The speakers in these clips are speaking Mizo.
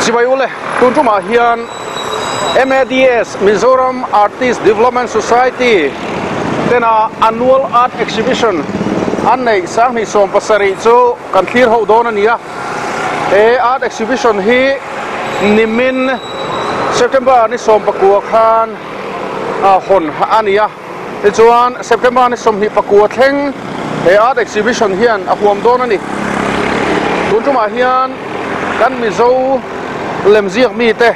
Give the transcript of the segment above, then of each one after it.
Chibai ule, tun tumah hian MADS, Mizoram Artist Development Society, tena Annual Art Exhibition an neih 2017 chu kan thlir ho dawn a ni a. He Art Exhibition hi nimin September ni 19 khan hawn a ni a. Tichuan September ni 29 thleng he Art Exhibition hian a huam dawn a ni. Tun tumah hian kan Mizo lemziak mite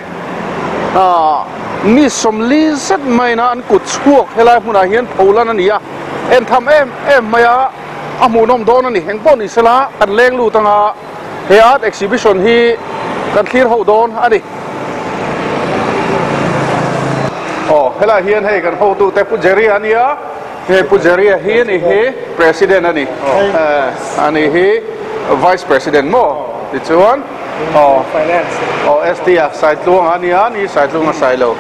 mi 40 zet maina an kut chhuak helai hmunah hian pholan a ni a. En tham em em mai a, a hmuhnawm dawn a ni. Engpawh ni sela kan leng lut anga he Art Exhibition hi kan thlir ho dawn a ni. Aw helai hian hei kan hotute Pu Jerry a nia, hei Pu Jerry a hi a ni hi President a ni, a ni hi Vice President maw tichuan aw aw ST a Saitluanga a nia, ni Saitluanga Sailo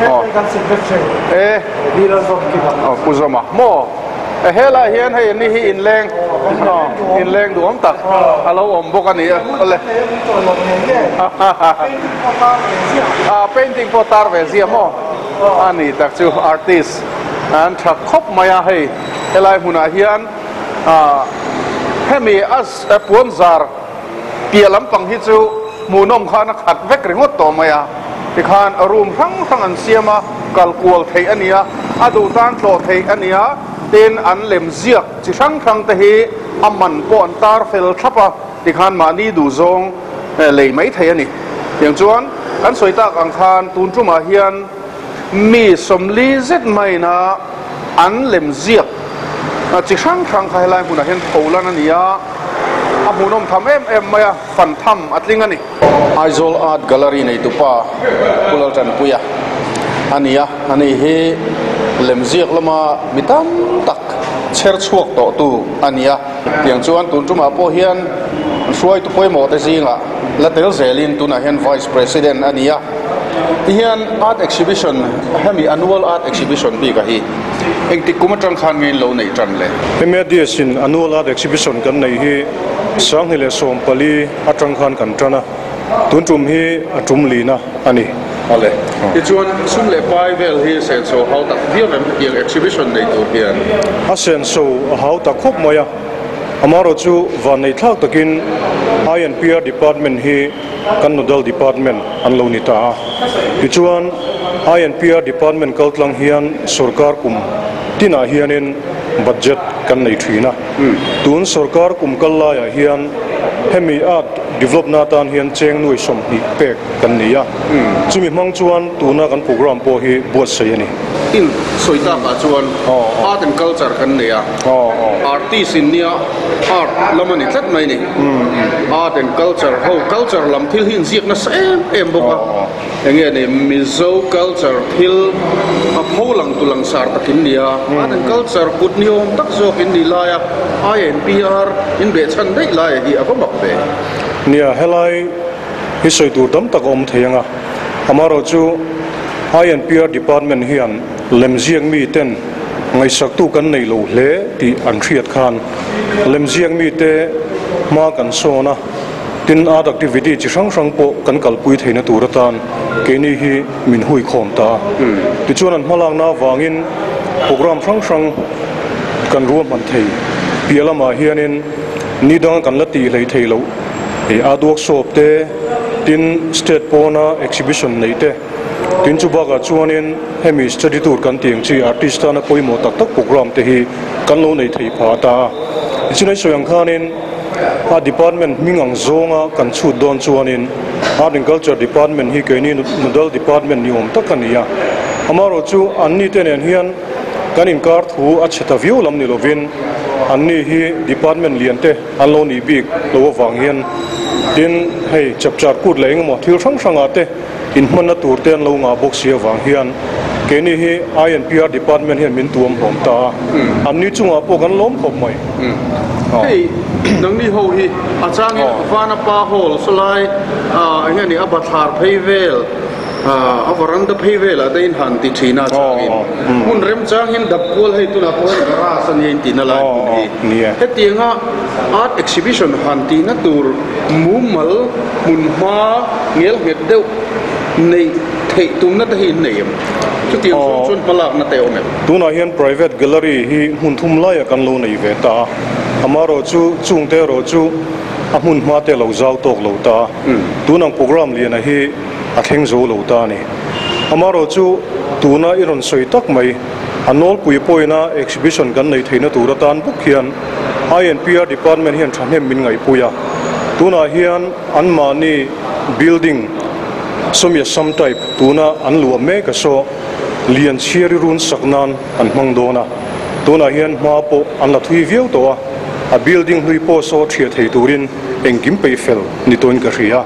aw e aw Pu Zawma maw. Helai hian hei ni hi inleng inleng duhawm tak a lo awm bawk a ni a awle a painting pawh tar ve zia maw a ni tak chu artist an tha khawp mai a hei helai hmunah hian hemi a puan zar piah lampang hi chu hmuhnawm khan a khat vek ringawt tawh mai a tikhan room hrang hrang an siam a kal kual theih a ni a a duh tan tlawh theih a ni a tin an lem ziak chi hrang hrang te hi a man pawh an tar fel thlap a tikhan mahni duh zawng lei mai thei a ni tiang chuan kan sawi tak ang khan tun tumah hian mi 40 zet maina an lem ziak chi hrang hrang kha helai hmunah hian pholan a ni a a hmuhnawm tham em em mai a fan tham a tling a ni. Aizawl Art Gallery neitupa Pu Laltanpuia a ni a, ani hi lemziak lama mi tam tak chher chhuak tawh tu a ni a. Tiang chuan tun tumah pawh hian hruaitu pawimawh te zingah la tel zelin tunah hian Vice President a ni a. Tihian Art Exhibition hemi Annual Art Exhibition bik a hi engtik kum atang khan nge in lo neih tan le? MADS in Annual Art Exhibition kan neih hi 2014 atang khan kan tan a, tun tum hi a tum lina a ni. Awle. Tichuan sum leh pai vel hi senso hau tak viau em hetiang exhibition nei tur hian? A senso a hau tak khawp mai a, amaherawh chu van nei thlak takin INPR department hi kan nodal department an lo ni ta a. Tichuan INPR department kaltlang hian sorkar kum tinah hianin budget kan nei thin a. Tun sorkar kum kal laiah hian hemi art develop na atan hian cheng nuai 20 pek kan ni a. Chumi hmang chuan tuna kan program pawh hi buatsaih a ni. In sawi takah chuan art and culture kan nei a, artist in nia art lam a ni tlat mai ni. Art and culture ho culture lam thil hi inziak nasa em em bawk a, enge ni Mizo culture thil a pho lang tu langsar takin ni a, art and culture kut ni awm tak zawk in nih laia INPR in behchhan daih laia hi a va mak ve. Nia, helai hi sawi tur tam tak a awm thei ang a, amaherawh chu INPR department hian lemziak mi ten ngaihsaktu kan nei lo hle tih an hriat khan lemziak mi te hma kan sawn a, tin art activity chi hrang hrang pawh kan kalpui theihna tur atan keini hi min hui khawm ta a. Tichuan an hmalakna avangin program hrang hrang kan ruahman thei piah lamah hianin ni danga kan la tih hlei thei loh art workshop te, tin state pawna exhibition neih te, tin chu bakah chuanin hemi study tour kan tih ang chi artist tana pawimawh tak tak program te hi kan lo nei thei phah ta a. Tichuan hei sawi ang khanin a department hming ang zawnga kan chhut dawn chuanin Art and Culture Department hi keini nodal department ni awm tak a ni a. Amaherawh chu anni te nen hian kan inkar thu a chhe ta viau lam ni lovin anni hi department lian te an lo nih bik lo avang hian tin hei chapchar kut leh engemaw thil hrang hrangah te inhmanna tur te an lo ngah bawk si avang hian keini hi INPR department hian min tuam hlawm ta a, anni chungah pawh kan lawm khawp mai. Hei nangni ho hi a changin Vanapa Hall sawlai enge ni a bathlar phei vel. A varanda phei velah te in han ti thin a changin hmun remchang hian dap kual hei tunah pawh hian garage a nia in tihna lai hmun hi. Hetianga art exhibition han tihna tur mumal hmun hma ngel nghet deuh neih theih tumna te hi in nei em? Chutiang zawng chuan hmalakna te a awm em? Tunah hian private gallery hi hmun thum laiah kan lo nei ve ta a, amaherawhchu chungte erawh chu a hmun hma te a lo zau tawk lo ta a, tunang programme liana hi a thleng zo lo ta a ni. Amaherawhchu tuna i rawn sawi tak mai, a nawlpui pawhina exhibition kan nei theihna tur atan bawk hian INPR department hian thahnem min ngaihpui a. Tunah hian anmahni building sawmia sam type tuna an luah mek a saw lian chhiari run sak nan an hmang dawn a. Tunah hian hma pawh an la thui viau tawh a, a building hlui pawh saw thiah thei turin engkim peih fel ni tawhin ka hria.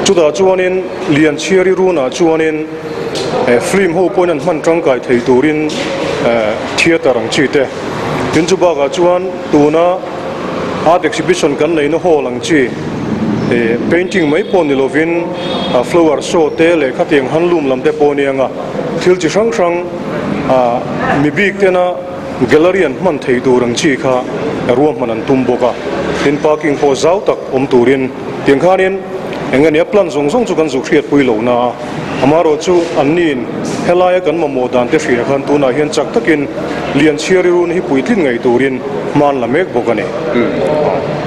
Chutah chuanin Lianchhiari runah chuanin film ho pawhin an hman tangkai thei turin theatre ang chi te, tin chu bakah chuan tuna art exhibition kan neihna hall ang chi painting mai pawh ni lovin flower show te leh khatiang handloom lam te pawh a nia nga thil chi hrang hrang mi bik tena Gallery an hman thei tur ang chi kha ruahman an tum bawk a, tin parking pawh zau tak awm turin tiang khanin eng nge nia plan zawng zawng chu kan zuk hriatpui lo na a, amaherawh chu anniin helaia kan mamawh dan te hria khan tunah hian chak takin Lianchhiari run hi puitlin ngei turin hma an la mek bawk a ni.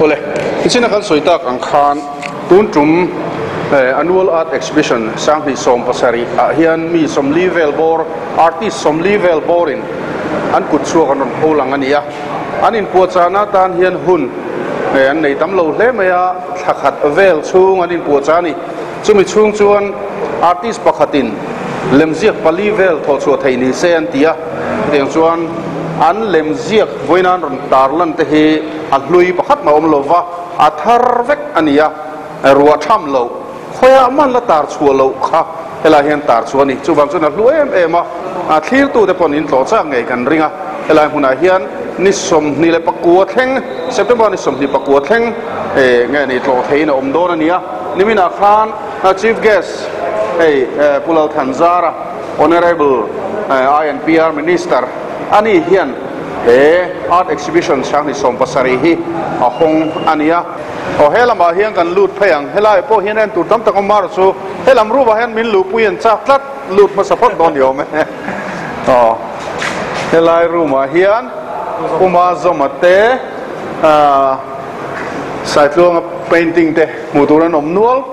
Awle, tichina kan sawi tak ang khan tun tum Annual Art Exhibition 2017 ah hian mi 40 vel bawr, artist 40 vel bawrin an kut chhuak an rawn pho lang a ni a, an inpuahchahna atan hian hun an nei tam lo hle mai a, thla khat vel chhung an inpuahchah a ni. Chumi chhung chuan artist pakhatin lemziak pali vel thawhchhuah theih ni se an ti a, chutiang chuan an lemziak vawiin an rawn tarlan te hi a hlui pakhat mah awm lo va, a thar vek a ni a, ruah tham loh. Khawiah man la tar chhuah loh kha helai hian tar chhuah a ni. Chuvang chuan a hlu em em a, a thlirtute paw'n in tlawh chak ngei kan ring a. Helai hmunah hian ni 29 thleng, September ni 29 thleng nge ni tlawh theihin a awm dawn a ni a. Niminah khan Chief Guest hei Pu Lalthanzara, Honourable INPR Minister a ni hian he Art Exhibition 2017 hi a hawng a ni a. Aw he lamah hian kan lut phei ang, helaiah pawh hian en tur tam tak awm erawh chu he lam room ah hian min luhpui an chak tlat, lut hmasa phawt dawn ni awm e. Aw helai room ah hian Puma Zawma te ah Saitluanga painting te hmuh tur an awm nual.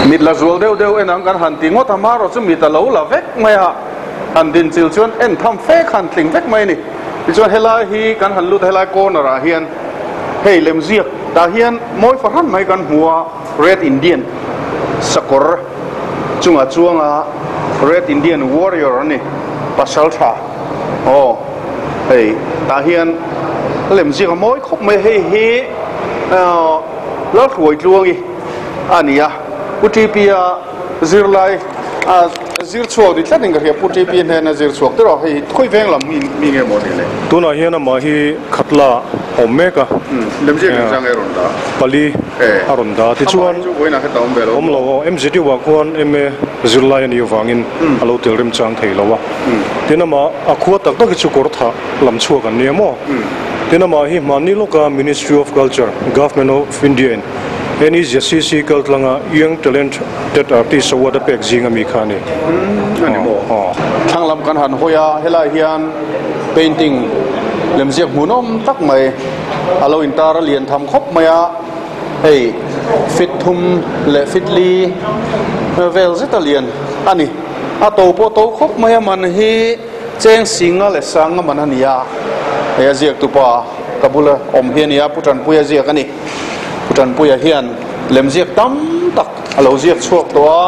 Mit la zual deuh deuh en ang kan han ti ngawt a, amaherawh chu mit a lo la vek mai a, han din chil chuan en tham fe khan tling vek mai a ni. Tichuan helai hi kan han lut a, helai corner ah hian hei lemziak tah hian mawi fahran mai kan hmu a, Red Indian sakawr chungah chuanga Red Indian Warrior a ni, Pasaltha aw hei tah hian lemziak a mawi khawp mai a, hei hi Lalhruaitluangi a ni a, Pu TP-a zirlai a zir chhuak ni tlat in ka hria, Pu TP hnena zir chhuak te rawh, hei khawi veng lam mi mi nge maw ni le? Tunah hian amah hi Khatla a awm mek a. Lemziak engzang nge a rawn dah? Pali a rawn dah. Tichuan, Amah hi chu vawiinah heta awm ve lo. Awm lo aw, MZU ah khuan MA zirlai a nih avangin a lo tel remchang thei lo a. Tin amah a khua tak tak hi chu kawrthah lam chhuak an nia maw? Tin amah hi hmanni lawka Ministry of Culture, Government of India in NEZCC kaltlanga Young Talent Tet Artist Award a pek zing ami kha a ni. A ni maw? Thlang lam kan han hawi a, helai hian painting lemziak hmuhnawm tak mai a lo intar a lian tham khawp mai a, hei feet thum leh feet li vel zet a lian a ni. A to pawh to khawp mai a, man hi cheng singa leh sanga man a ni a, hei a ziak tupa ka bula awm hi a ni a, Pu Tanpuia ziak a ni. Pu Tanpuia hian lemziak tam tak a lo ziak chhuak tawh a,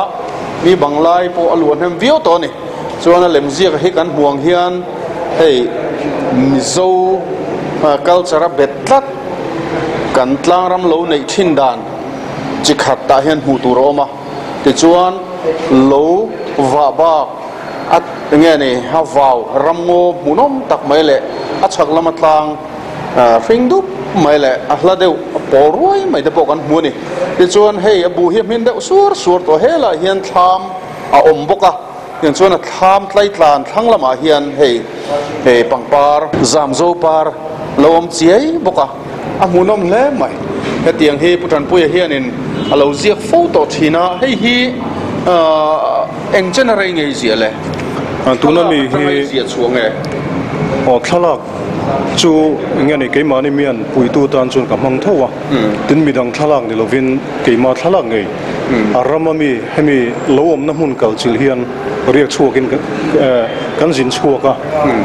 mi banglai pawh a luah hnem viau tawh a ni. Chuan a lemziak hi kan hmuh ang hian hei Mizo culture a bet tlat kan tlangram lo neih thin dan chi khat tah hian hmuh tur a awm a. Tichuan lo vah bak a enge ni a vau ramngaw hmuhnawm tak mai leh a chhak lama tlang Hring dup mai leh a hla deuh a pawl ruai mai te pawh kan hmu a ni. Tichuan hei a buh hi a hmin deuh suar suar tawh. Helaiah hian thlam a awm bawk a. Tiang chuan a thlam tlaitlan thlang lamah hian hei hei pangpar zamzo par lo awm chiai bawk a, a hmuhnawm hle mai. Hetiang hi Pu Tanpuia hianin a lo ziak fo tawh thin a, hei hi ahh eng chen a rei ngei ziah le? Tuna mi Thlalak atanga hi i ziah chhuah nge? Aw thlalak chu enge ni keimahni mian puitu tan chuan ka hmang tho a, tin midang thlalak ni lovin keimah thlalak ngei. A rama mi hemi lo awmna hmun kal chilh hian riak chhuakin kan zin chhuak a,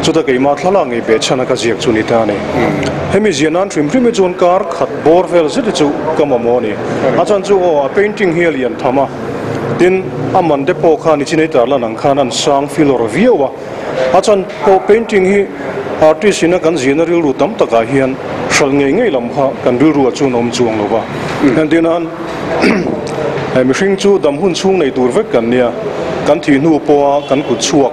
chuta keimah thlalak ngei beh chhan a ka ziak chu ni ta a ni. Hemi ziah nan hrim hrim hi chuan kar khat bawr vel zet hi chu ka mamawh a ni. A chhan chu aw a painting hi a lian tham a, tin a man te pawh khan i chinei tar lan ang khan an sang filawr viau a. A chhan pawh painting hi artist ina kan zirna rilru tam takah hian hralh ngei ngei lam kha kan rilruah chuan a awm chuang lo va. Entir nan mihring chu dam hun chhung nei tur vek kan nia, kan thih hnu pawha kan kut chhuak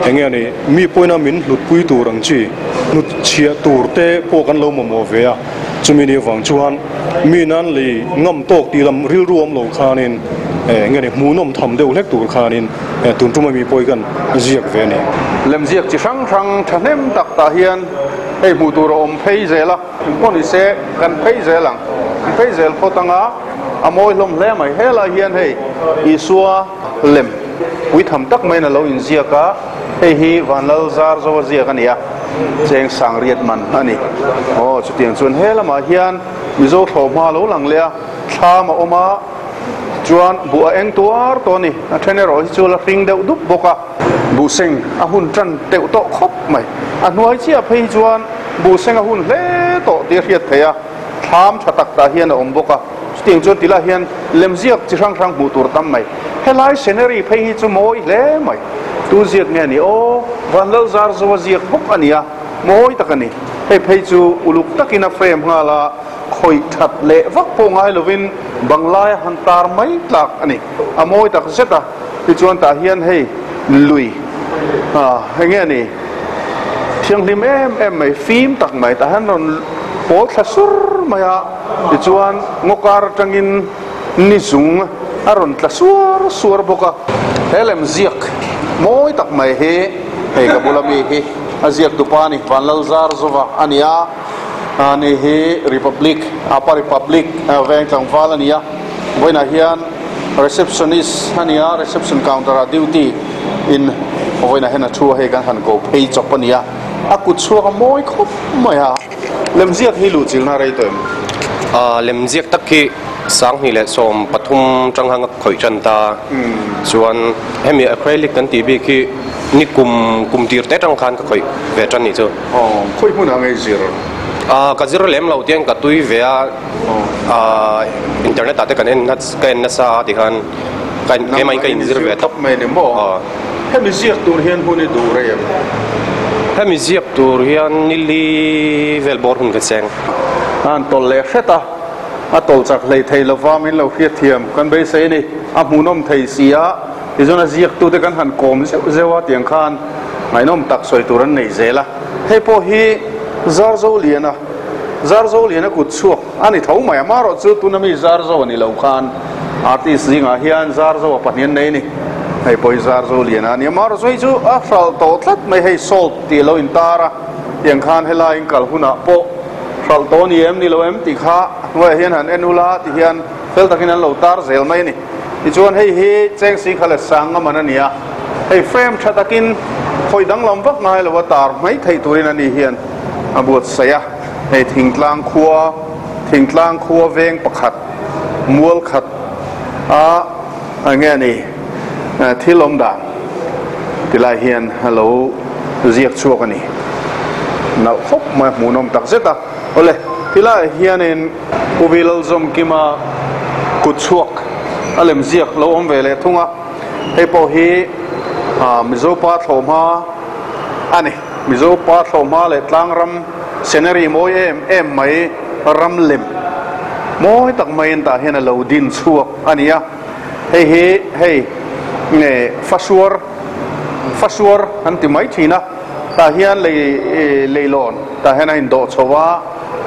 eng nge ni, mi pawina min hlutpui tur ang chi hnut chhiah tur te pawh kan lo mamawh ve a, chumi ni avang chuan mi nan lei ngam tawk tih lam rilru awm lo khanin eng nge ni hmuhnawm tham deuh hlek tur khanin Tun tum ami pawh hi kan ziak ve a ni. Lemziak chi hrang hrang thahnem tak tah hian hei hmuh tur a awm phei zel a, engpawh ni se kan phei zel ang, kan phei zel phawt ang a, a mawi hlawm hle mai. Helai hian hei Isua lem puitham tak maiin a lo inziak a, hei hi Vanlal Zarzo a ziak a ni a, cheng sangriat man a ni. Aw chutiang chuan he lamah hian Mizo thlawhhma a lo lang leh a, thlam a awm a. Chuan buh a eng tuar tawh a ni. A then erawh hi chu la hring deuh dup bawk a. Buh seng a hun tan teuh tawh khawp mai. A hnuai chiah phei hi chuan buh seng a hun hle tawh tih a hriat theih a. Thlam tha tak tah hian a awm bawk a. Chutiang chuan ti lah hian lemziak chi hrang hrang hmuh tur tam mai. Helai scenery phei hi chu mawi hle mai. Tu ziak nge ni aw? Vanlal Zarzo a ziak bawk a nia. Mawi tak a ni. Hei phei chu uluk takin a frame nghal a. Khawih that leh vak pawh ngai lovin banglaia han tar mai tlak a ni. A mawi tak zet a, tichuan tah hian hei lui ah eng nge ni thianghlim em em mai, fim tak mai tah hian rawn pawl thla sur mai a, tichuan ngaw kar atangin ni zung a rawn tla suar suar bawk a. He lem ziak mawi tak mai hi hei ka bula mi hi a ziak tupa a ni, Vanlalzarzova a ni a. Ani hi Republic, Apa Republic veng tlangval a ni a, vawiinah hian receptionist a ni a, reception counter ah duty in vawiinah hian a thu a, hei kan han ko phei chawp a ni a, a kut chhuak a mawi khawp mai a, lemziak hi luhchilhna rei tawh em? Lemziak tak hi 2013 tang hanga khawih tan ta, chuan hemi acrylic kan tih bik hi ni kum kum tir te tang khan ka khawih ve tan nih chu. Aw, khawi hmunah nge i zir? Ah, ka zir lem lo tiang ka tui ve a, ah internet ah te kan en ka en nasa a tikhan ka en keimah in ka inzir ve tawp. Mai ni maw? Aw. Hemi ziak tur hian hun i duh rei em? Hemi ziak tur hian nili vel bawr hun ka cheng. A han tawlh leh hret a, a tawlh chak hlei thei lova min lo hriatthiam kan beisei a ni. A hmuhnawm thei si a. Tichuan a ziaktute kan han kawm zeuh zeuh a, tiang khan ngaihnawm tak sawi tur an nei zel a. Hei pawh hi Zarzoliana, Zarzoliana kut chhuak a ni tho mai. Amaherawh chu tuna mi Zarzo a ni lo khan artist zingah hian Zarzo a pahnih an nei a ni. Hei pawh hi Zarzoliana a ni. Amaherawh chu hei chu a hralh tawh tlat mai, hei salt tih a lo intar a, tiang khan helai in kal hunah pawh hralh tawh a ni em ni lo em tih kha hnuaiah hian han en ula tihian fel takin an lo tar zel mai a ni. Tichuan hei hi cheng singkha leh sang a man a ni a, hei frame tha takin khawi danglam vak ngai lo a tar mai theih turin a ni hian a buatsaih a, hei thingtlang khua thingtlang khua veng pakhat mual khat a eng nge ni thil awm dan tilai hian a lo ziak chhuak a ni nalh khawp mai a hmuhnawm tak zet a awle tilaiah hianin. Pu Vilalzawmkima kut chhuak a lem ziak lo awm ve leh thung a, hei pawh hi Mizopa thlawhhma a ni. Mizopa thlawhhma leh tlangram scenery mawi em em mai ram lem mawi tak maiin tah hian a lo din chhuak a ni a, hei hi hei nge fasuar fasuar an ti mai thin a, tah hian lei leilawn tah hian a indawh chho a.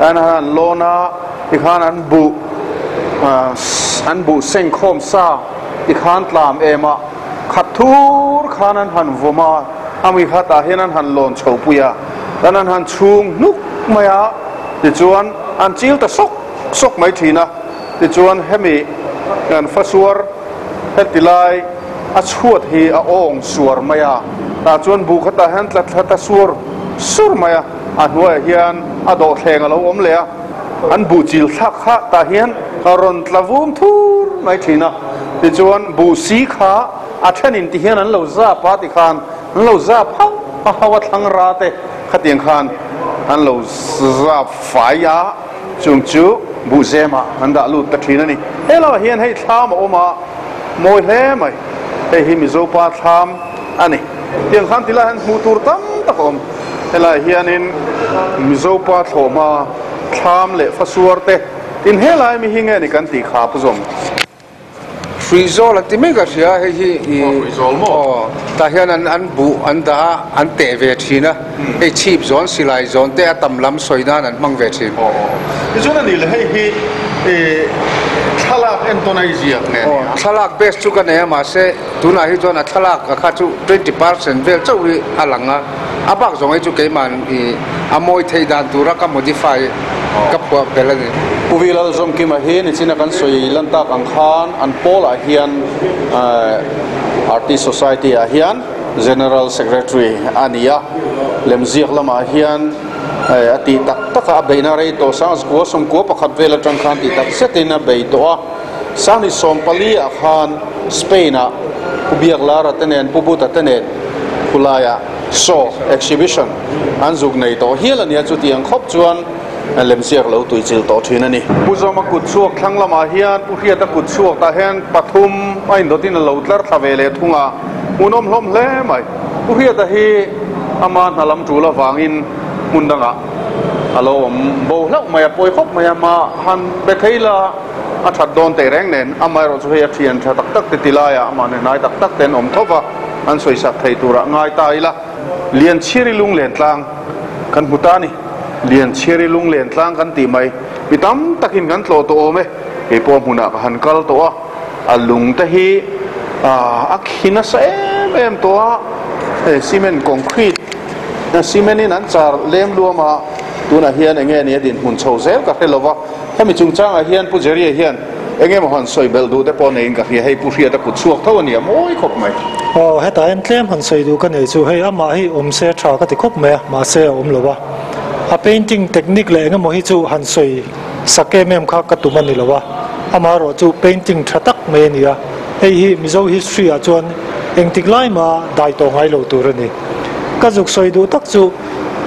An han lawn a, tikhan an buh an buh seng khawm sa tikhan tlam em a, Khat thur khan an han vawm a, a mi kha tah hian an han lawn chho pui a, tan an han chhung hnuk mai a, tichuan an chil ta sawk sawk mai thin a, tichuan hemi kan fasuar heti lai a chhuat hi a awng suar mai a, tah chuan buh kha tah hian tla thla ta sur sur mai a, a hnuaiah hian a dawhthleng a lo awm leh a, an buh chil thlak kha tah hian a rawn tla vum thur mai thin a, tichuan buh si kha a thenin ti hian an lo zap a tikhan an lo zap hauh a hauh a thlang ra te khatiang khan an lo zap fai a, chung chu buh zemah an dah lut ta thin a ni. He lamah hian hei thlam a awm a, mawi hle mai, hei hi Mizopa thlam a ni. Tiang khan tilai hian hmuh tur tam tak a awm. Helaiah hianin Mizopa thlawhhma thlam leh fasuar te tin helai mi hi nge ni kan tih kha pu zawm. Hruizawl an ti mai ka hria hei hi i aw tah hian an an buh an dah a an teh ve thin a hei chhip zawn silai zawn te a tam lam sawi nan an hmang ve thin. Aw aw tichuan a nih le hei hi i thlalak entawn a i ziak nge ni a? Thlalak base chu ka nei a mahse tunah hi chuan a thlalak a kha chu 20% vel chauh hi a lang a. A bak zawng hi chu keiman i a mawi theih dan tura ka modify ka phuah belh a ni. Pu Vi Lalzawmkima hi nichina kan sawi lan tak ang khan an pawlah hian Artist Society ah hian General Secretary a ni a, lemziak lamah hian a tih tak tak a, a beihna rei tawh Sangzkua sawmkua pakhat vel atang khan tih tak zetin a bei tawh a, Sanghnih 14 ah khan Spain ah Pu Biaklara te nen Pu Buta te nen Khulaiah show, exhibition, an zuk nei tawh hial a nia, chutiang khawp chuan lemziak lo tuichilh tawh thin a ni. Pu Zawma kut chhuak thlang lamah hian Pu Hriata kut chhuak tah hian pathum a indawtin a lo tlar thla ve leh thung a, hmuhnawm hlawm hle mai. Pu Hriata hi ama hna lam tul avangin hmun dangah a lo awm bo hlauh mai a, pawi khawp mai a, mah han be thei la a that dawn teh reng nen, amaherawh chu hei a thian tha tak tak te ti laiah amah hne hnai tak tak te an awm tho va. An sawisak thei turah ngai ta ila, Lianchhiari lunglen tlang kan hmu ta a ni. Lianchhiari lunglen tlang kan tih mai, mi tam takin kan tlawh tawh awm e. Kei pawh hmunah ka han kal tawh a, a lung te hi a khi nasa em em tawh a, hei cement concrete cement in an char lem luam a, tunah hian eng nge ni a dinhmun chho zel ka hre lo va, hemi chungchangah hian Pu Jerry-a hian Eng emaw han sawi belh duh te pawh neiin ka hria, hei Pu Hriata kut chhuak tho a nia mawi khawp mai. Aw, hetah hian tlem han sawi duh ka nei chu hei amah hi awm se tha ka ti khawp mai a, mahse a awm lo a. A painting technique leh eng emaw hi chu han sawi sak em em kha ka tum a ni lo a, amaherawh chu painting tha tak mai a ni a, hei hi Mizo history ah chuan engtik lai mah dai tawh ngai lo tur a ni. Ka zuk sawi duh tak chu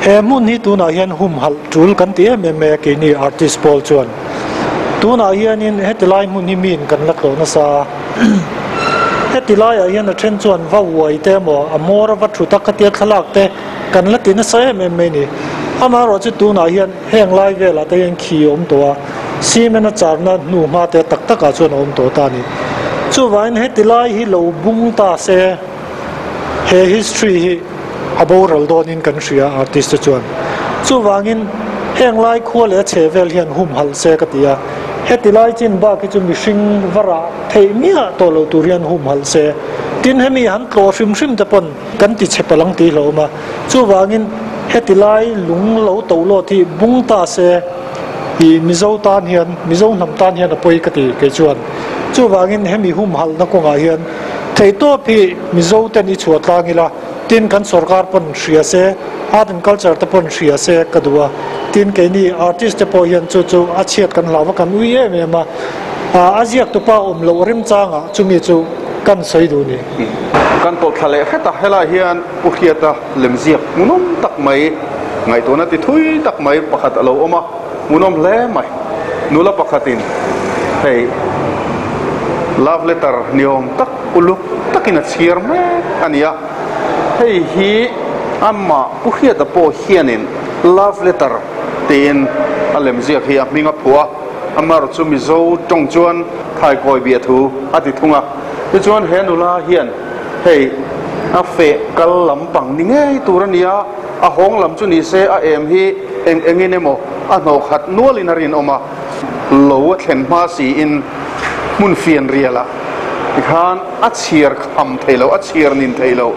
he hmun hi tunah hian humhalh tul kan ti em em mai a keini artist pawl chuan. Tunah hianin heti lai hmun hi miin kan la tlawh nasa a, heti laiah hian a then chuan va uai te emaw a hmawr a va thut a khatia thlalak te kan la ti nasa em em mai a ni. Amaherawh chu tunah hian heng lai velah te hian khi a awm tawh a, cement a charna hnu hma te tak takah chuan a awm tawh ta a ni. Chuvangin heti lai hi lo bung ta se he history hi a boral dawnin kan hria artist te chuan. Chuvangin heng lai khua leh a chhe vel hian humhalh se ka ti a, heti lai chin bak hi chu mihring va rah theih miah tawh loh tur hian humhalh se. Tin hemi han tlawh hrim hrim te pawn kan ti chhe palh ang tih hlauhawm a, chuvangin heti lai lung lo to lawt hi bung ta se i Mizo tan hian, Mizo hnam tan hian a pawi ka ti kei chuan. Chuvangin hemi humhalhna kawngah hian Theihtawp hi Mizo ten i chhuah tlang ila, tin kan sorkar pawn hria se, art and culture te pawn hria se ka duh a, tin keini artist te pawh hian chu chu a chhiat kan hlau va kan ui em em a, a ziak tupa awm loh remchangah chumi chu kan sawi duh ni. Kan tawh thla leh hret a, helai hian Pu Hriata lemziak hmuhnawm tak mai, ngaihtuahna ti thui tak mai pakhat a lo awm a. Hmuhnawm hle mai. Nula pakhatin hei love letter ni awm tak uluk takin a chhiar mek a ni a. Hei hi amah Pu Hriata pawh hianin love letter tiin a lemziak hi a hming a phuah a. Amar chu Mizo tawng chuan thaikawi biah thu a ti thung a. Tichuan he nula hian hei a feh kal lampang ni ngei tur a ni a. A hawng lam chu ni se a em hi eng engin emaw a hnawh khat nualin a rinawm a, lo a thlen hma siin hmun fian rialah Tikhan a chhiar kham thei lo, a chhiar nin thei lo.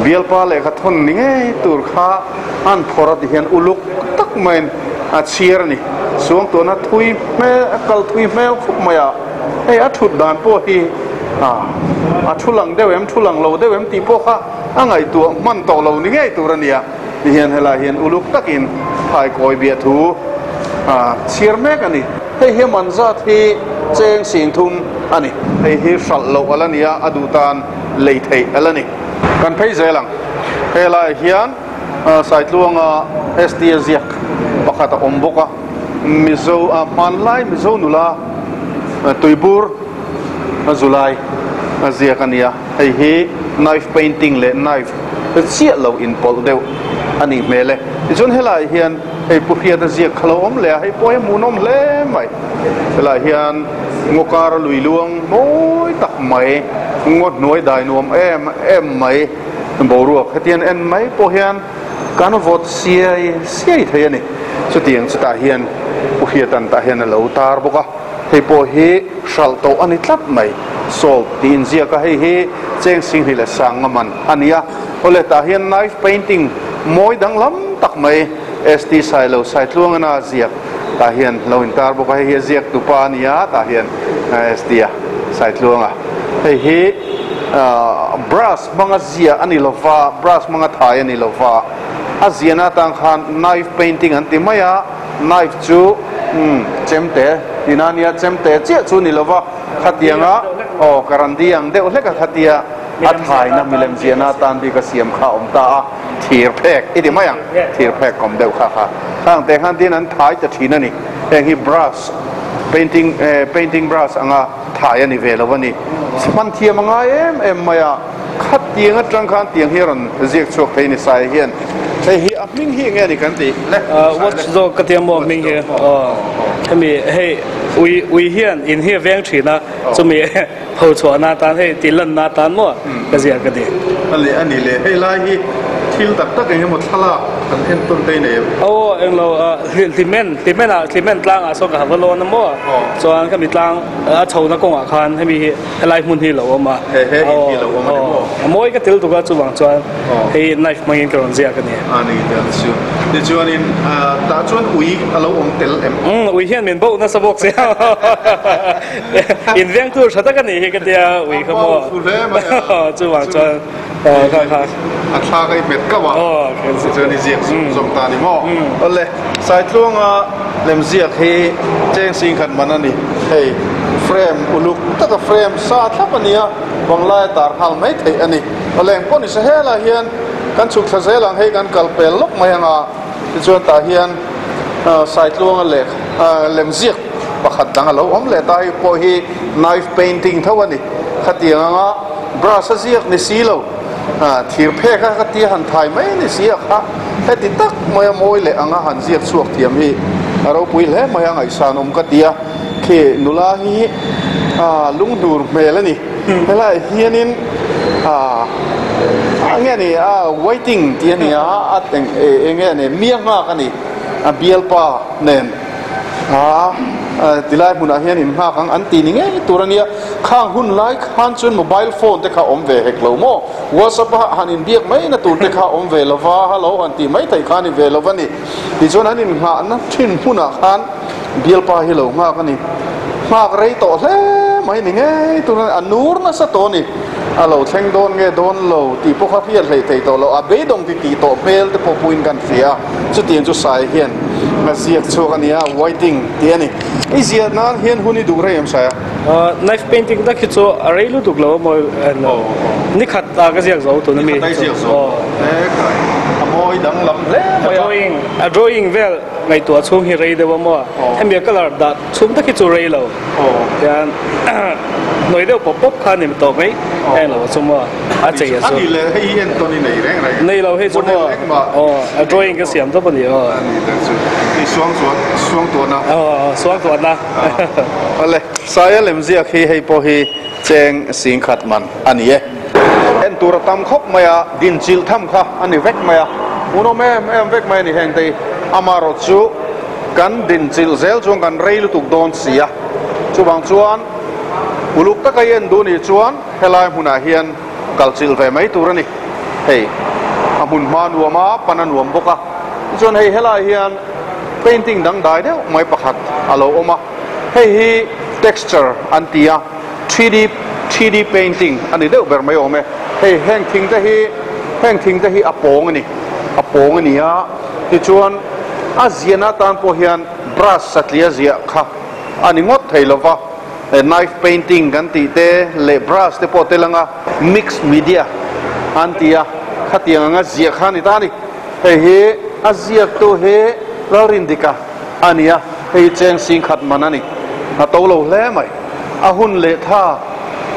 Bialpa lehkha thawn ni ngei tur kha an phawrh a ti hian uluk tak maiin a chhiar a ni. Suangtuahna thui hmel, a kal thui hmel khawp mai a, hei a thut dan pawh hi a thu lang deuh em, thu lang lo deuh em tih pawh kha a ngaihtuah hman tawh lo ni ngei tur a ni a. Tihian helai hian uluk takin thaikawi biahthu a chhiar mek a ni. Hei hi man zat hi cheng singthum a ni. Hei hi hralh loh a la ni a, a duh tan lei theih a la ni. Kan phei zel ang. Helaiah hian Saitluanga ST a ziak pakhat a awm bawk a, Mizo hmanlai Mizo nula Tuibur Zulai a ziak a ni a. Hei hi knife painting leh knife chiah lo inpawlh deuh a nih hmel e. Tichuan helaiah hian hei Pu Hriata ziak kha lo awm leh a, hei pawh hi a hmuhnawm hle mai. Helaiah hian ngaw kar a lui luang mawi tak mai, ngaw hnuai dai nuam em em mai boruak hetiang en mai pawh hian kan vawt siai siai thei a ni. Chutiang chutah hian Pu Hriata'n tah hian a lo tar bawk a. Hei pawh hi hralh tawh a ni tlat mai. Salt tih inziak a, hei hi cheng singhnih leh sang nga man a ni a. Awle tah hian knife painting mawi danglam tak mai ST Sailo Saitluangana a ziak tah hian lo intar bawk a, hei hi a ziak tupa a ni a tah hian ST a Saitluanga. Hei hi brush hmanga ziah a ni lova, brush hmanga thai a ni lova, a ziahna atang khan knife painting an ti mai a. Knife chu umm chemte tina a nia, chemte chiah chu ni lova khatianga aw karandi ang deuh hlek a khatia a thaina milem ziahna atan bik a siam kha a awm ta a, thir phek i ti mai ang, thir phek kawm deuh kha kha khang te khan tin an thai ta thin a ni, heng hi brush painting eh painting brush anga thai a ni ve lo a ni, hman thiam a ngai em em mai a. Khatiang atang khan tiang hi a rawn ziak chhuak thei ni Sai hian hei hi a hming hi enge a ni kan tih le? Watch zawk ka tia maw a hming hi aw hemi hei ui ui hian in hi a veng thin a chumi pho chhuahna atan hei tih lanna atan maw ka ziak ka ti. A leh a ni le hei lai hi thil tak tak eng emaw thlalak kan en tawn te nei em? Aw englo hlimen hlimen ah hlimen tlangah sawn ka ha va lawn a maw chuan khami tlang a chhona kawngah khan hemi hi Helai hmun hi lo awm a. He he in hi lo awm a ni maw? A mawi ka tel tuk a chuvang chuan hei knife hmangin ka rawn ziak a ni. A ni tel chu. Tichuanin tah chuan ui a lo awm tel em? Umm ui hian min bauh nasa bawk sia. In veng tur tha tak a nih hi ka tia ui kha maw. A bauh hle mai a. Chuvang chuan kha kha. A thla ka i hmet kauh a. Tichuan i ziak zung zawng ta a ni maw? Awle Saitluanga lemziak hi cheng singkhat man a ni hei. Frame uluk taka frame sa thlap a ni a, banglai a tar nghal mai theih a ni. Awleng pawh ni se helai hian kan chhuk thla zel ang hei kan kal pel lawk mai ang a, tichuan tah hian Saitluanga leh lemziak pakhat dang a lo awm leh ta hei pawh hi knife painting tho a ni. Khatiang anga brush a ziak ni si lo, thir phek a ka tia han thai mai ni si a kha heti tak mai a mawi leh anga han ziak chhuak thiam hi a ropui hle mai a ngaihsan awm ka ti a. Khi nula hi lunghnur hmel a ni. Helaiah hianin enge a ni a waiting tih a ni a, a enge a ni mia nghak a ni a bialpa nen a tilai hmunah hian in nghak ang an ti ni ngei tur a nia. Khang hun lai khan chuan mobile phone te kha awm ve hek lo maw? WhatsApp a han inbiak mai na tur te kha awm ve lova, hello han tih mai theih kha a ni ve lova ni. Tichuan an innghahna thin hmunah khan Bialpa hi lo nghak a ni. Nghak rei tawh hle mai ni ngei tur a ni. A nur nasa tawh a ni. A lo thleng dawn nge dawn lo tih pawh kha hriat hleih theih tawh lo. A beidawng ti tih tawh hmel te pawh puiin kan hria a. Chutiang chu Sai hian a ziak chhuak a ni a, waiting tih a ni. I ziah nan hian hun i duh rei em Sai a? Knife painting tak hi chu a rei lutuk lo a mawi ni khat a ka ziak zo tun a mi. Ni khat a i ziak zo. A mawi danglam hle mai a. A drawing a drawing vel. Ngaihtuah chhung hi rei deuh a maw? Hemi a colour dah chhung tak hi chu rei lo. Tian hnuai deuh pawp pawp kha a ni tawh mai. Heng lo chu maw? A chei a chu. A ni le, hei hi entawn i nei reng reng. Nei lo hei chu maw? Aw, a drawing ka siam tawp a ni aw. A ni tak chu. Hei suangtuah, suangtuahna. Aw, suangtuahna. Awle, Saia lemziak hi hei pawh hi cheng singkhat man a ni e. En tur a tam khawp mai a, din chilh tham kha a ni vek mai a, hmuhnawm em em vek mai a ni heng te hi. Amaherawh chu kan din chilh zel chuan kan rei lutuk dawn si a, chuvang chuan Uluk taka i en duh nih chuan helai hmunah hian kal chilh ve mai tur a ni. Hei a hmun hma nuam a, pan a nuam bawk a. Tichuan hei helai hian painting dangdai deuh mai pakhat a lo awm a. Hei hi texture an ti a, 3D 3D painting a ni deuh ber mai awm e. Hei heng thing te hi heng thing te hi a pawng a ni, a pawng a ni a. Tichuan a ziahna atan pawh hian brush satliah ziah kha a ni ngawt thei lo va. Knife painting kan tih te leh brush te pawh tel anga mixed media an ti a, khatiang anga ziah kha a ni ta a ni. Hei hi a ziaktu hi Lalrindika a ni a, hei hi cheng sing khat man a ni. A to lo hle mai. A hun leh tha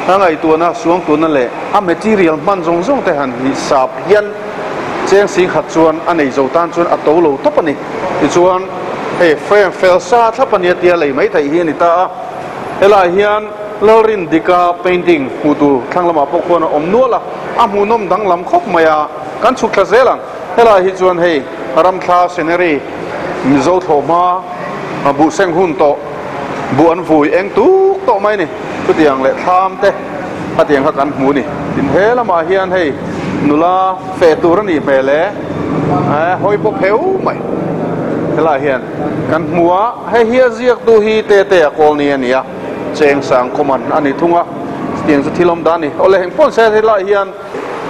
a ngaihtuahna, suangtuahna leh a material hman zawng zawng te han hi sap hian cheng sing khat chuan a nei zo tan chuan a to lo tawp a ni. Tichuan hei frame fel sa thlap a nia tia lei mai theih hi a ni ta a. Helaiah hian Lalrindika painting hmuh tur thlang lamah pawh khuan a awm nual a, a hmuhnawm danglam khawp mai a, kan chhuk thla zel ang. Helaiah hi chuan hei ramthla scenery Mizo thlawhhma buh seng hun tawh buh an vui eng tuk tawh mai a ni. Chutiang leh thlam te khatiang kha kan hmu a ni. Tin he lamah hian hei nula feh tur a nih hmel e, hawi pawp heu mai helaiah hian kan hmu a. Hei hi a ziaktu hi Tete a kawl ni a ni a, cheng sang common a ni thung a, chutiang chu thil awm dan a ni. Awle heng pawn se helaiah hian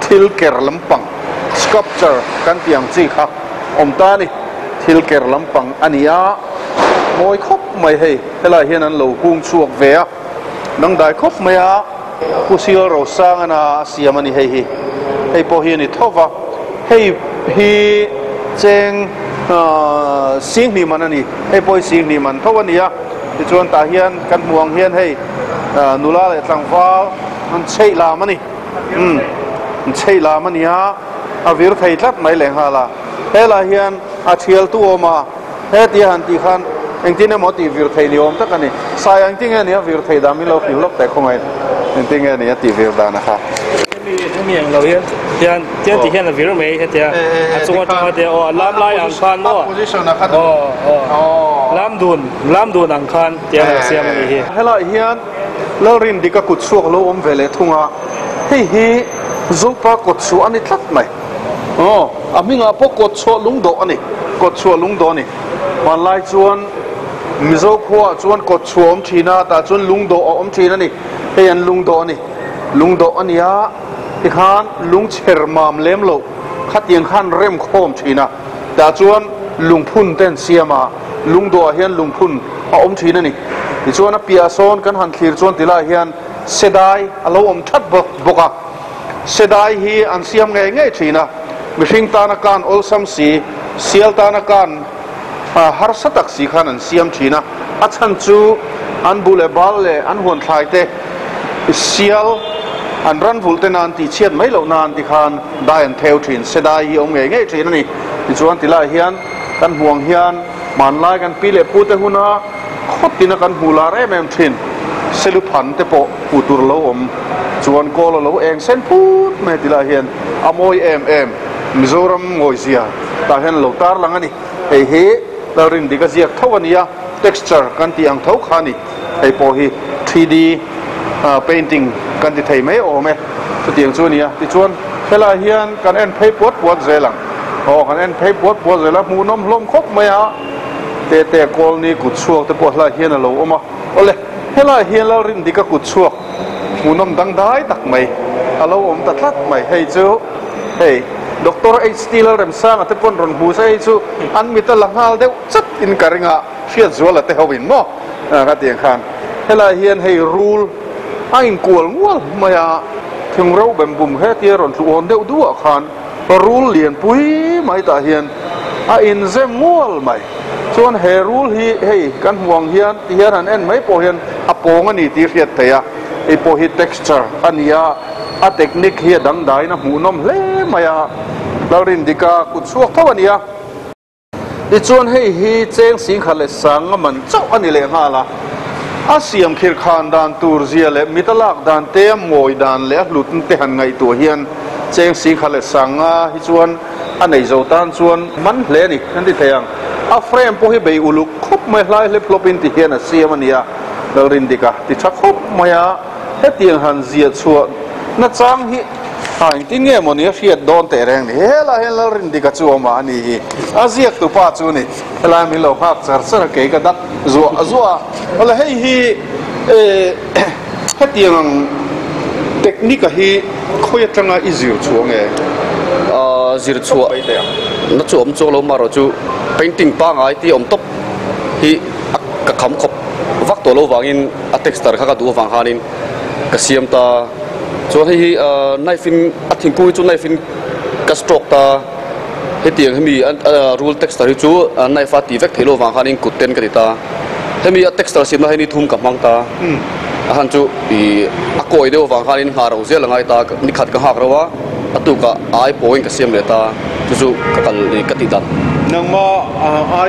thil ker lampang, sculpture kan tih ang chi kha awm ta a ni. Thil ker lampang a ni a, mawi khawp mai hei, helaiah hian an lo hung chhuak ve a, dangdai khawp mai a, Pu Sial Rosangana a siam a ni hei hi, hei pawh hi a ni tho va, hei hi cheng Singhnih man a ni, hei pawh hi Singhnih man tho a ni a, tichuan tah hian kan hmuh ang hian hei nula leh tlangval an chheih lam a ni, umm an chheih lam a ni a, a vir thei tlat mai lehnghal a, helaiah hian a thial tu awm a, hetia han tih khan engtin emaw tih vir thei ni awm tak a ni, sai engtin nge ni a vir thei dan min lo hrilh lawk teh khawngaih engtin nge ni a tih vir dan a kha. Hemi hemi ang lo hian hian tiang ti hian a vir mai hetia a chung atanga te aw a lam lai ang khan maw aw aw lam dun lam dun ang khan tiang a siam a nih hi. Helaiah hian Lalrindika kut chhuak lo awm ve leh thung a, hei hi Zopa kawt chhuah a ni tlat mai. Aw a hmingah pawh kawt chhuah lungdawh a ni, kawt chhuah lungdawh a ni. Hmanlai chuan Mizo khuaah chuan kawt chhuah a awm thin a, tah chuan lungdawh a awm thin a ni. Hei an lungdawh a ni. Lungdawh a nia, tikhan lungchher mam lem loh khatiang khan rem khawm thin a, tah chuan lungphun te an siam a, lungdawhah hian lungphun a awm thin a ni. Tichuan a piah sawn kan han thlir chuan tilaiah hian sedai a lo awm that bawk a, sedai hi an siam ngei ngei thin a, mihring tana kan awlsam si, sial tana kan harsa tak si khan an siam thin a, a chhan chu an buh leh bal leh an huan thlai te sial an ran vulh te nan tih chhiat mai loh nan ti khan dai an theu thin, se dai hi a awm ngei ngei thin a ni. Tichuan ti laiah hian kan hmuh ang hian hmanlai kan pi leh pu te huna khawt tina kan hmuh lar em em thin seluphan te pawh hmuh tur a lo awm chuan kawl a lo eng sen phut mai ti laiah hian a mawi em em Mizoram ngawizia tah hian a lo tarlang a ni. Hei hi Lalrindik a ziak tho a nia, texture kan tih ang tho kha a ni. Hei pawh hi 3D painting kan ti thei mai awm e, chutiang chu a nia. Tichuan helaiah hian kan en phei puat puat zel ang. Aw kan en phei puat puat zel a, hmuhnawm hlawm khawp mai a. Tete Kawlni kut chhuak te pawh helaiah hian a lo awm a. Awle, helaiah hian Lalrindika kut chhuak hmuhnawm dangdai tak mai a lo awm ta tlat mai. Hei chu hei Doctor HT Lalremsanga te pawn rawn hmu se hei chu an mit a la nghal deuh chat in ka ring a, Hriatzuala te ho in maw ka ti ang khan helaiah hian hei rul a inkual ngual mai a, thing ro bem bum hetia rawn tlu awn deuh duah khan rul lianpui mai tah hian a inzem ngual mai. Chuan he rul hi hei kan hmuh ang hian ti hian han en mai pawh hian a pawng a ni tih hriat theih a, hei pawh hi texture a ni a, a technique hi a dangdaiin a hmuhnawm hle mai a, Lalrindika kut chhuak tho a ni a. Tichuan hei hi cheng singkhat leh sanga man chauh a ni leh nghal a, a siam khir khan dan tur zia leh mit a lak dan te a mawi dan leh a hlut te han ngaihtuah hian cheng singkhat leh sanga hi chuan A nei zo tan chuan man hle a ni kan ti thei ang. A frame pawh hi bei uluk khawp mai hlai hlep hlawpin ti hian a siam a nia. Lalrindika ti tha khawp mai a. Hetiang han ziah chhuah nachang hi a engtin nge mawni a hriat dawn teh reng ni. Helaiah hian Lalrindika chu awm a a ni hi. A ziaktu pa chu ni. Helai min lo nghak char char a, kei ka dak zuah zuah a. Awle hei hi hetiang ang technique a hi khawi atanga i zir chhuah nge? Zir chhuah na chu awm chuang lo marawh chu painting pangngai tih awm tawp hi ka kham khawp vak tawh lo vangin a texture kha ka duh avang khanin ka siam ta. Chuan hei hi knife in a thingkung hi chu knife in ka stroke ta. Hetiang hemi rul texture hi chu knife a tih vek theih loh avang khanin kut ten ka ti ta. Hemi a texture siamna hi ni thum ka hmang ta. A han chu ih a kawi deuh avang khanin nghah ro zel a ngai ta. Ni khat ka nghak ro a, a tukah a ai pawhin ka siam leh ta. Chu chu ka kal ka tih dan. Nangma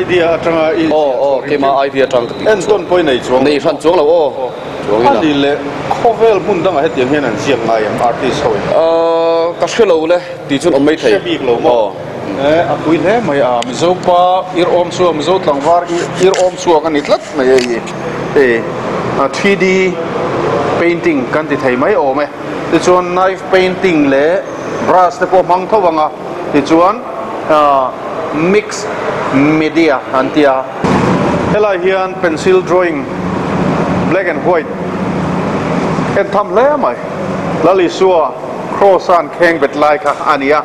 idea atanga i Aw aw keima idea atang ka tih En tawn pawh i nei chuang lo. Nei hran chuang lo aw. Chuang ila. A ni leh khawvel hmun dangah hetiang hian an ziak ngai ang artist ho in. Ka hre lo le tih chuan awm mai thei. Hre bik lo maw? E a pui hle mai a Mizo pa ir awm chhuak Mizo tlangvar ir awm chhuak a ni tlat mai hei hi. Hei 3D painting kan ti thei mai awm e. Tichuan knife painting leh brush te pawh hmang tho ang a. Tichuan mix media an ti a. Helai hian pencil drawing black and white en tham hle mai. Lal Isua cross a an kheng bet lai kha a ni a.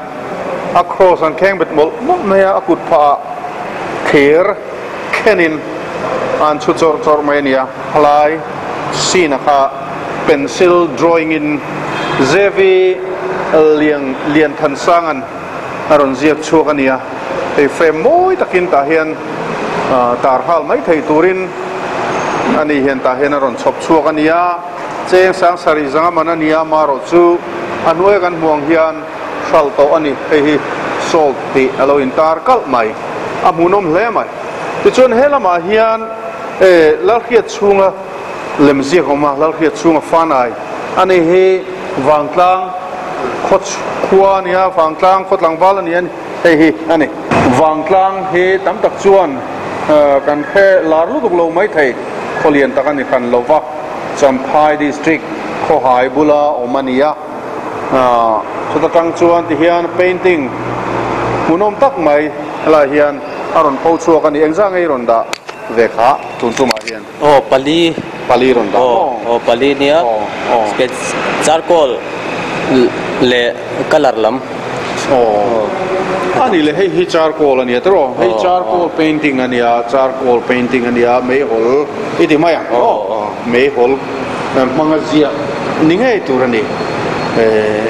A cross an kheng bet mawlh mawlh mai a, a kut phah ah thir khenin an chhu chawrh chawrh mai a ni a. Helai scene a kha pencil drawing in Zevi Liang Lianthansanga'n a rawn ziak chhuak a ni a, hei frame mawi takin tah hian tar nghal mai thei turin a ni hian tah hian a rawn chhawp chhuak a ni a, cheng sang sarih zanga man a ni a, marawh chu a hnuaia kan hmuh ang hian hralh tawh a ni, hei hi salt tih a lo intar kalh mai, a hmuhnawm hle mai. Tichuan he lamah hian Lalhriat chhunga lemziak a awm a, Lalhriat chhunga fanai a ni hi Vangtlang khaw khua a ni a, Vangtlang khaw tlangval a ni a ni, hei hi a ni. Vangtlang hi tam tak chuan kan hre lar lutuk lo mai thei, khaw lian tak a ni hran lo va, Champhai District khawhai bula awm a ni a, chuta tang chuan tihian painting hmuhnawm tak mai helaiah hian a rawn pho chhuak a ni, engzah nge i rawn dah ve kha tun tumah hian? Aw pali. Pali rawn dah maw? Aw pali nia. Aw aw. Sketch charcoal leh colour lam. Aw. A nih leh hei hi charcoal a nia tiraw? Hei charcoal painting a nia, charcoal painting a nia, meihawl i ti mai ang maw? Meihawl hmanga ziah ni ngei tur a ni.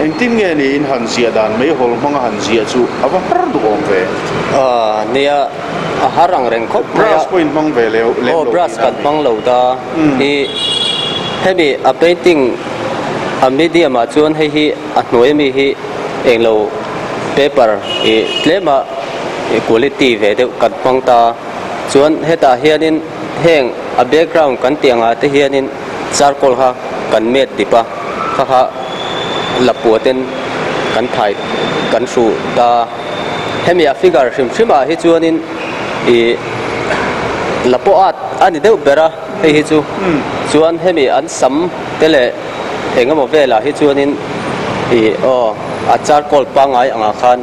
Engtin nge ni in han ziah dan meihawl hmanga han ziah chu a va har duhawm ve? Nia. A har ang reng khawp mai a. Brush pawh in hmang ve leh lem Aw lo brush tihna kan a ni. hmang lo ta. I hemi a painting a medium ah chuan hei hi a hnuai ami hi englo paper i tlema quality ve deuh kan hmang ta. Chuan hetah hianin heng a background kan tih angah te hianin charcoal kha kan met dip a, kha kha lapua ten kan thai kan hruh ta. Hemi a figure hrim hrim ah hi chuanin ih la pawh at a ni deuh ber a hei hi chu chuan hemi an sam te leh eng emaw velah hi chuanin ih aw a charcoal pangngai angah khan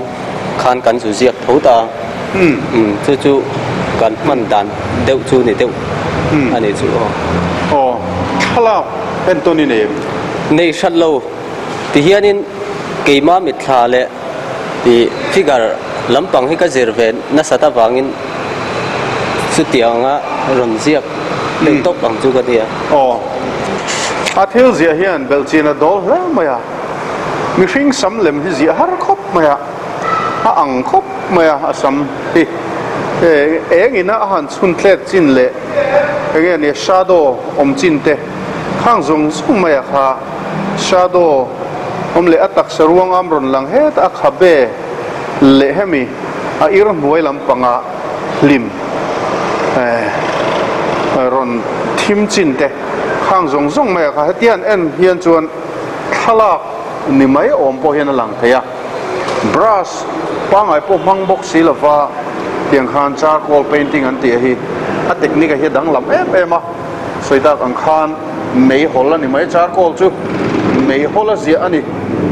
khan kan zu ziak tho ta umm chu chu kan hman dan deuh chu ni deuh a ni chu aw. Aw thlalak entawn i nei em? Nei hrat lo tihianin keima mitthla leh. Tih figure lampang hi ka zir ve nasat avangin chutianga rawn ziak deuh tawp ang chu ka nia. Aw. A thil ziah hian belhchian a dawl hle mai a, mihring sam lem hi ziah har khawp mai a, a ang khawp mai a, a sam hi eng ina a han chhun tlet chin leh enge nia shadow awm chin te khang zawng zawng mai a kha. Shadow awm leh a taksa ruang am rawn lang het a khabe leh hemi a ir hnuai lampanga hlim rawn thim chin te khang zawng zawng mai a kha hetiang en hian chuan thlalak ni mai awm pawh hian a lang thei a brush pangngai pawh hmang bawk si lova tiang khan charcoal painting an tih hi a technique a hi a danglam em em a sawi tak ang khan. Meihawl a ni mai, charcoal chu meihawl a ziah a ni.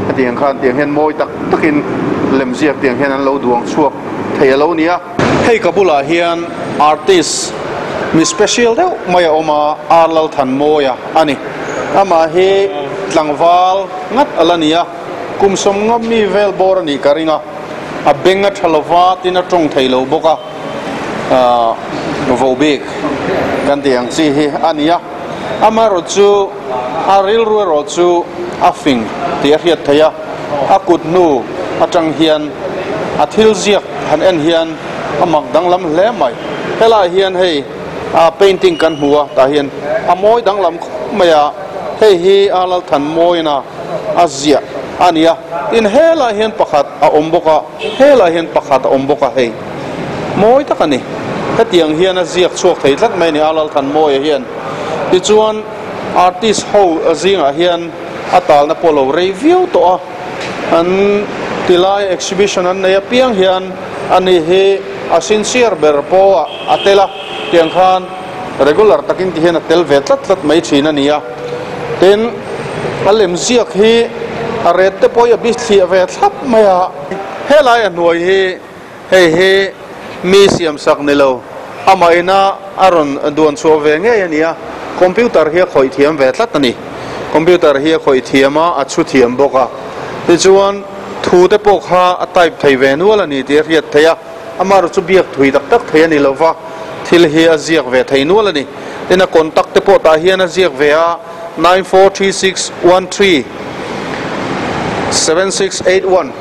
Hetiang khan tiang hian mawi tak takin lemziak tiang hian an lo duang chhuak thei a lo ni a. Hei ka bulah hian artist mi special deuh mai a awm a, Ar Lalthanmawia a ni. Amah hi tlangval ngat a la ni a, kum sawmnga mi vel bawr a nih ka ring a, a beng a tha lova tin a tawng thei lo bawk a, ahh vohbik kan tih ang chi hi a ni a. Amaherawh chu a rilru erawh chu a fing tih a hriat theih a, a kut hnu atang hian a thil ziak han en hian a mak danglam hle mai. Helaiah hian hei a painting kan hmu a, tah hian a mawi danglam khawp mai a, hei hi a Lalthanmawina a ziah a ni a, tin helaiah hian pakhat a awm bawk a, helaiah hian pakhat a awm bawk a hei. Mawi tak a ni. Hetiang hian a ziak chhuak thei tlat mai a ni a Lalthanmawia hian. Tichuan artist ho zingah hian a talna pawh lo rei viau tawh a, an tilai exhibition an nei apiang hian ani hi a sincere ber pawh a tel a, tiang khan regular takin ti hian a tel ve tlat tlat mai thin a ni a. Tin, a lemziak hi a ret te pawh hi a bithliah ve thlap mai a. Helai a hnuai hi Hei hi mi siamsak ni lo, amah ina a rawn duan chhuah ve ngei a ni a, computer hi a khawih thiam ve tlat a ni. Computer hi a khawih thiam a, a chhu thiam bawk a. Tichuan, thu te pawh kha a type thei ve nual a ni tih a hriat theih a, amaherawh chu biak thui tak tak thei a ni lo va, thil hi a ziak ve thei nual a ni. Tin, a contact te pawh tah hian a ziak ve a, 943613 7681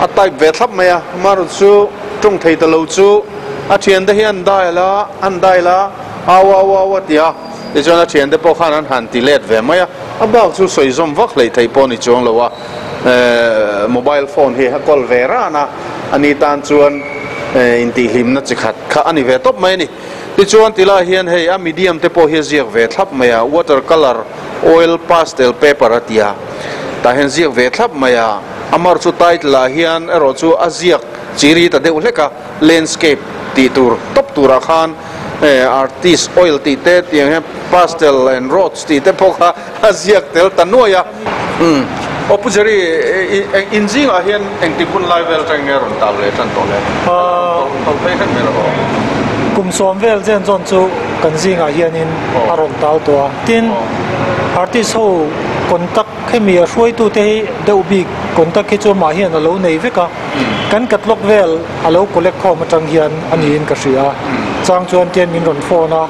a type ve thlap mai a, amaherawh chu tawng thei ta lo chu a thiante hi an dial a, an dial a, au au au a ti a, tichuan a thiante pawh khan an han ti let ve mai a, a bak chu sawi zawm vak hleih theih pawh a ni chuang lo a, ehh mobile phone hi a kawl ve ran a, ani tan chuan intihhlimna chi khat kha a ni ve tawp mai a ni. Tichuan tilai hian hei a medium te pawh hi a ziak ve thlap mai a, water colour, oil pastel paper a ti a, tah hian ziak ve thlap mai a, amar chu title ah hian erawh chu a ziak chiri ta deuh hlek a, landscape tih tur tawp turah khan artist oil tih te tiang hian pastel and rods tih te pawh kha a ziak tel ta nuai a. Umm aw Pu Jerry in zingah hian engtik hun lai vel atangin nge rawn tal leh tan tawh le? Tawlh phei hret mai rawh aw. Kum sawm vel zen zawn chu kan zingah hianin a rawn tal tawh a. Tin, artist ho contact hemi a hruaitute hi deuh bik contact hi chu amah hian a lo nei vek a. Kan catalog vel a lo collect khawm atang hian a niin ka hria a. Chang chuan tian min rawn phone a,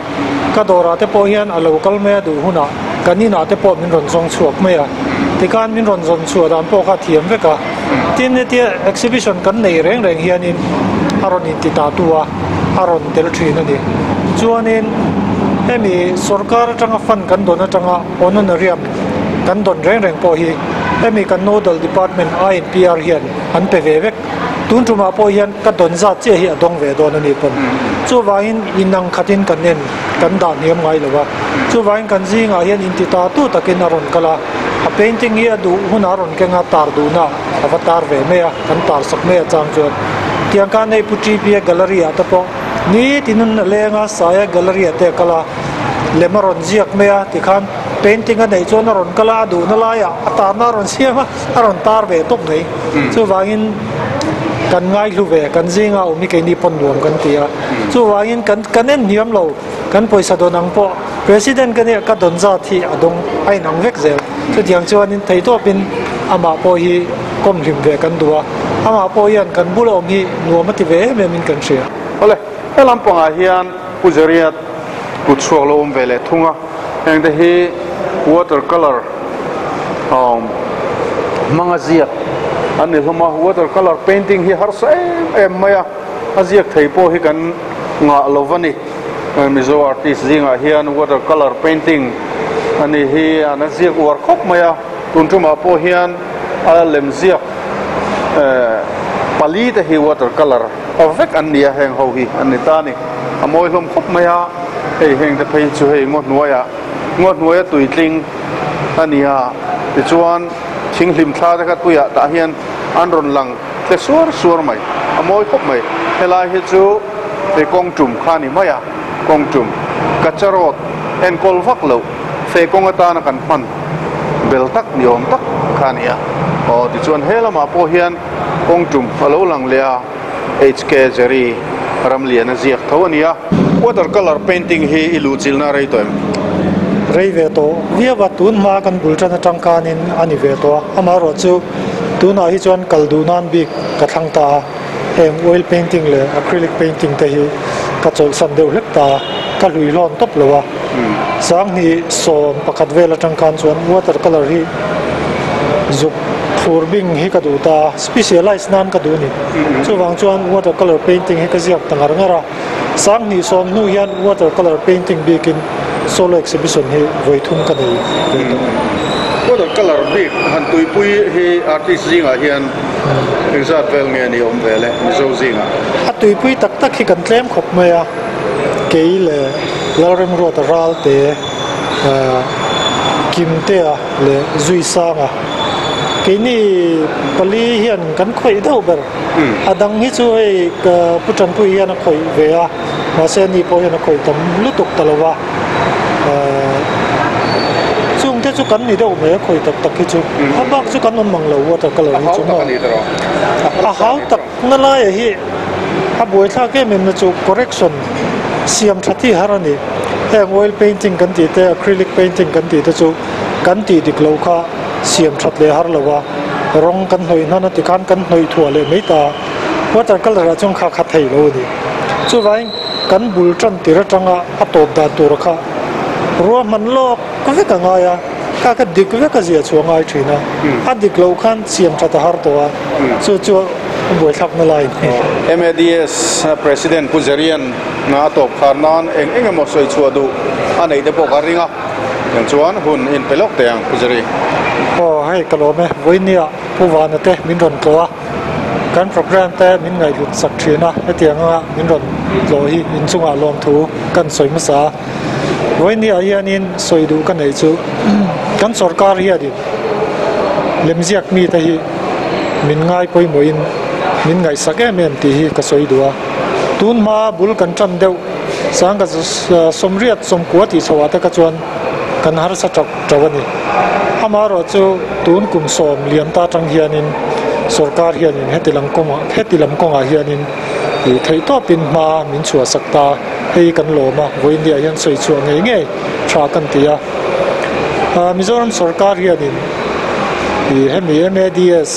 ka dawrah te pawh hian a lo kal mai a duh hunah kan inah te pawh min rawn zawng chhuak mai a. Tikhan min rawn zawn chhuah dan pawh kha a thiam vek a. Tin, hetia exhibition kan nei reng reng hianin a rawn inti ta tu a, a rawn tel thin a ni. Chuanin hemi sorkar atanga fund kan dawn atanga honorarium kan dawn reng reng pawh hi hemi kan nodal department INPR hian an pe ve vek. Tun tumah pawh hian ka dawn zat chiah hi a dawng ve dawn a ni pawn. Chuvangin inang khatin kan en kan dah hniam ngai lo va. Chuvangin kan zingah hian inti ta tu takin a rawn kal a, a painting hi a duh hunah a rawn keng a, tar duhna a va tar ve mai a, kan tar sak mai a chang chuan. Tiang khan hei Pu TPA gallery ah te pawh nitin a leng a, Saia gallery ah te a kal a, lem a rawn ziak mai a tikhan painting a neih chuan a rawn kal a, a duhna laiah a tarna a rawn siam a, a rawn tar ve tawp mai. Chuvangin kan ngaihlu ve, kan zinga awm hi keini pawn nuam kan ti a. Chuvangin kan kan en hniam lo, kan pawisa dawn ang pawh President ka nia ka dawn zat hi a dawng a inang vek zel. Chutiang chuanin theitawpin amah pawh hi kawm hlim ve kan duh a, amah pawh hian kan bula awm hi nuam a ti ve em em in kan hria. Awle, he lampangah hian Pu Zariat kut chhuak lo awm ve leh thung a, heng te hi water colour awm hmanga ziak an ni hlawm a, water colour painting hi harsa em em mai a, a ziak thei pawh hi kan ngah lo va ni, Mizo artist zingah hian water colour painting a ni hi an a ziak uar khawp mai a, tun tumah pawh hian a lem ziak eh pali te hi water colour a vek an ni a, heng ho hi an ni ta a ni, a mawi hlawm khawp mai a, hei heng te phei chu hei ngaw hnuaiah ngaw hnuaia tuitling a ni a, tichuan thinghlim thla te kha tuiah tah hian an rawn lang tle suar suar mai, a mawi khawp mai, helai hi chu hei kawng tum kha a ni mai a, kawng tum kacha road enkawl vak loh Feh kawng atana kan hman bel tak ni awm tak kha a ni a. Aw tichuan he lamah pawh hian kawng tum a lo lang leh a, HK Jerry Ramliana ziak tho a ni a. Water colour painting hi i luhchilhna a rei tawh em? Rei ve tawh viau a, tun hma kan bul tan atang khanin a ni ve tawh a, amaherawhchu tunah hi chuan kal duh nan bik ka thlang ta a. Heng oil painting leh acrylic painting te hi ka chawlhsan deuh hlek ta a, ka hlui hlawn tawp lo a. 2011 vel atang khan chuan water colour hi zuk thlur bing hi ka duh ta a, specialise nan ka duh a ni. Chuvang chuan water colour painting hi ka ziak ta ngar ngar a. 2010 hnu hian water colour painting bikin solo exhibition hi vawi thum ka nei ve tawh. Water colour bik han tuipui hi artist zingah hian Engzat vel nge ni awm ve le Mizo zingah? A tuipui tak tak hi kan tlem khawp mai a, kei leh Lalremruata Ralte, Kimtea leh Zuisanga keini pali hian kan khawih deuh ber. A dang hi chu hei Pu Tanpui hian a khawih ve a, mahse ani pawh hian a khawih tam lutuk ta lo va. Chung te chu kan ni deuh mai a khawi tak tak hi chu a bak chu kan awm mang lo water colour hi chu maw a hau tak na laia hi a buaithlak em em na chu correction siam tha thi har a ni heng oil painting kan tih te acrylic painting kan tih te chu kan tih dik lo kha siam that leh har lo a rawng kan hnawih hnan a tikhan kan hnawih thuah leh mai ta water colour ah chuan kha kha thei lo a ni chuvangin kan bul tan tir atanga a tawp dan tur kha ruahman lawk vek a ngai a, kha kha dik vek a zia chu a ngai thin a, a dik loh khan siam that a har tawh a, chu chu a buaithlakna lai a ni. MADS President Pu Zerian a tawp khar nan eng eng emaw sawi chhuah duh a neih te pawh ka ring a, tiang chuan hun in pe lawk teh ang Pu Zeri. Aw hei ka lawm e, vawinia Pu Vana te min rawn tlawh a. Kan program te min ngaihhlut sak thin a, hetiang anga min rawn tlawh hi inchungah lawmthu kan sawi hmasa a. Vawinia hianin sawi duh ka neih chu kan sorkar hianin lemziak mite hi min ngai pawimawhin min ngaihsak em em tih hi ka sawi duh a. Tun hma bul kan tan deuh sangka sawmriat sawmkua tih chhoah te kha chuan kan harsa tap tap a ni. Amaherawhchu tun kum 10 liam ta atang hianin sorkar hianin heti lam kawngah heti lam kawngah hianin ih theih tawpin hma min chhuah sak ta hei kan lawm a, vawiindia hian sawi chhuah ngei ngei tha kan ti a. Mizoram sorkar hianin ih hemi MADS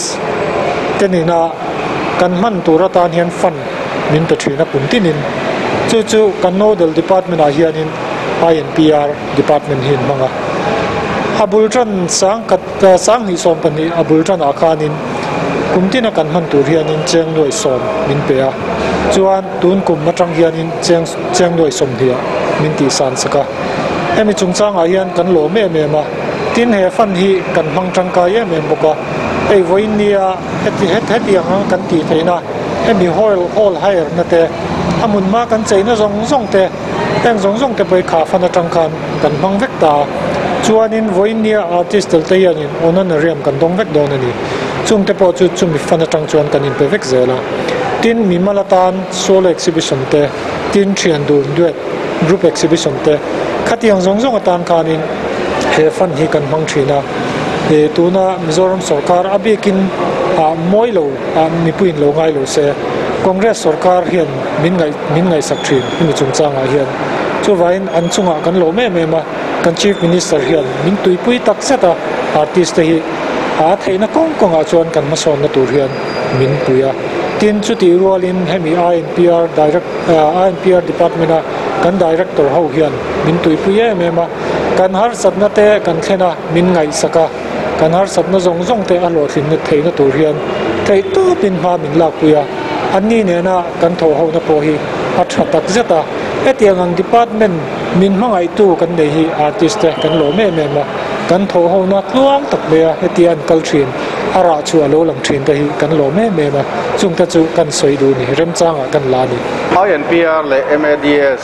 te nena kan hman tur atan hian fund min pe thin a kum tinin chu chu kan nodal department ah hianin INPR department hi an hmang a. A bul tan sangkhat 2012 a bul tanah khanin kum tina kan hman tur hianin cheng nuaih sawm min pe a, chuan tun kum atang hianin cheng cheng nuaih sawmhnih ah min tih san sak a. Hemi chungchangah hian kan lawm em em a, tin he fund hi kan hmang tangkai em em bawk a, hei vawiin nia heti hetiang ang kan tih theihna hemi hall hall hire na te a hmun hma kan cheina zawng zawng te Heng zawng zawng te pawh kha fan atang khan kan hmang vek ta a, chuanin vawiin artist tel te hianin honorarium kan dawng vek dawn a ni. Chung te pawh chu chumi fan atang chuan kan inpe vek zel a. Tin, mimal atan solo exhibition te, tin thian dun duet group exhibition te, khatiang zawng zawng atan khanin he fan hi kan hmang thin a. Ih tuna Mizoram sorkar a bikin ah mawi lo ah mipuiin lo ngai lo se, Congress sorkar hian min ngaih min ngaihsak thin hemi chungchangah hian. Chuvangin an chungah kan lawm em em a, kan Chief Minister hian min tuipui tak zet a, artist te hi a theihna kawng kawngah chuan kan hmasawnna tur hian min pui a. Tin, chutih rualin hemi INPR Direct INPR Department a kan Director ho hian min tuipui em em a, kan harsatna te kan thlen a, min ngaihsak a, kan harsatna zawng zawng te a hlawhtlinna theihna tur hian theih tawpin hma min lakpui a. Anni nena kan thawh hona pawh hi a tha tak zet a, hetiang ang department min hmangaihtu kan nei hi artist te kan lawm em em a, kan thawh hona tluang tak mai a hetia an kal thin, a rah chu a lo lang thin te hi kan lawm em em a, chung te chu kan sawi duh ni, remchangah kan la ni. INPR leh MADS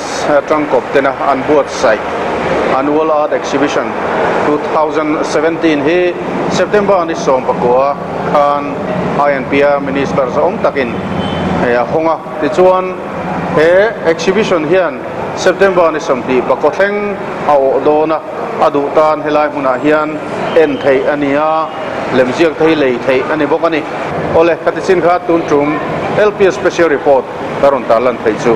tangkawp tena an buatsaih Annual Art Exhibition 2017 hi September ni 19 khan INPR Minister zawng takin a hawng a. Tichuan he exhibition hian September ni 20 pakaw thleng a awh dawn a, a duh tan helai hmunah hian en theih a ni a, lemziak te hi lei theih a ni bawk a ni. Awle, khati chin kha tun tum LPS Special Report ka rawn tarlan theih chu.